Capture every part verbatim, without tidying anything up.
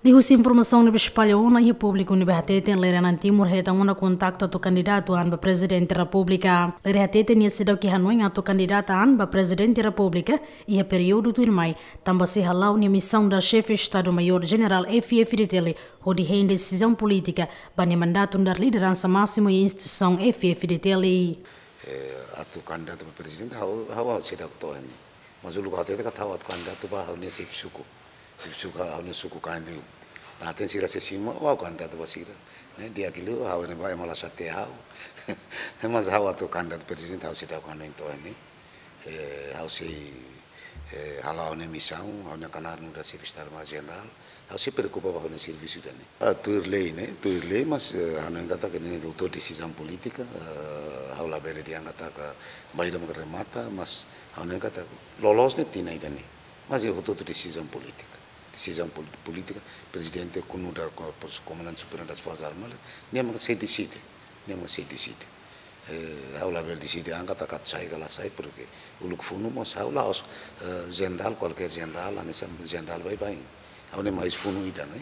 Liuhusi informasaun ne'ebé espalla ona iha públiku ne'ebé hateten, Lere Anan Timur hetan ona kontaktu atu kandidata an ba Prezidente Repúblika. Lere hateten nia seidauk iha hanoin atu kandidata an ba Prezidente Repúblika iha períodu tuirmai, tanba sei hala'o nia misaun dala Xefe Estadu Maiór Jenerál F-FDTL hodi hein desizaun polítika ba nia mandatu nu'udar lideransa másimu iha instituisaun F-FDTL. Eh, atu kandidata ba prezidente, ha'u, ha'u seidauk to'o iha ne'e. Mas uluk hateten katak ha'u atu kandidata ba ha'u-nia xefe suku. Xefe suku, ha'u-nia suku kain liu. Naten sira sei simu, ha'u kandidata ba sira. Ne'e, di'ak liu, ha'u ne'e ba ema la sate ha'u. Mas ha'u atu kandidata prezidente, ha'u seidauk hanoin to'o iha ne'e. Eh, ha'u sei, eh, hala'o ha'u-nia misaun, ha'u-nia knaar nu'udar Xefe Estadu Maiór Jenerál, ha'u sei preokupa ba ha'u-nia servisu ida-ne'e. Ah, tuir lei ne'e, tuir lei, mas, eh, hanoin katak ne'e hotu-hotu desizaun polítika, eh, ha'u labele dehan katak bainhira mak remata, mas hanoin katak loloos ne'e tinan ida-ne'e. Mas ne'e hotu-hotu desizaun polítika. Desizaun pol-, polítika, prezidente nu'udar ko-, pos-, komandante supremu das Forsas Armadas, nia mak sei deside, nia mak sei deside. Eh, ha'u labele deside an katak atu sai ka la sai, porke uluk funu mós ha'u la'ós, eh, jenerál, kualkér jenerál, hanesan jenerál baibain. Ha'u ne'e mai husi funu ida, ne'e?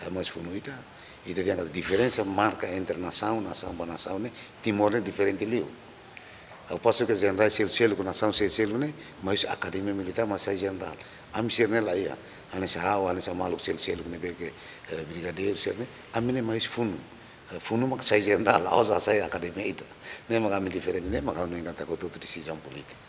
Ha'u mai husi funu ida. Ita dehan katak diferensa marka entre nasaun, nasaun ba nasaun ne'e, Timor ne'e diferente liu. Ha'u postu ke jenerál selu-seluk, nasaun selu-seluk ne'e mai husi akademia militár, mai sai jenerál. Ami sira-ne'e laiha. Hanesan ha'u, hanesan maluk selu-seluk ne'ebé ke, eh, brigadeiru sira-ne'e, ami ne'e mai husi funu. Eh, funu mak sai jenerál, la'ós sai akademia ida. Ne'e mak ami diferente, ne'e mak ha'u hanoin katak hotu-hotu desizaun polítika.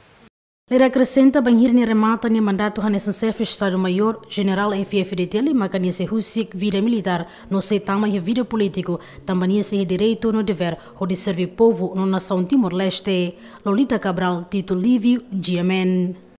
Lere akresenta, bainhira nia remata nia mandatu hanesan Xefe Estadu Maiór Jenerál F-FDTL, maka nia sei husik vida militár no sei tama iha vida polítiku, tanba nia sei iha direitu no devér hodi serve povu no nasaun Timor-Leste. Lolita Cabral, Tito Livio, G M N.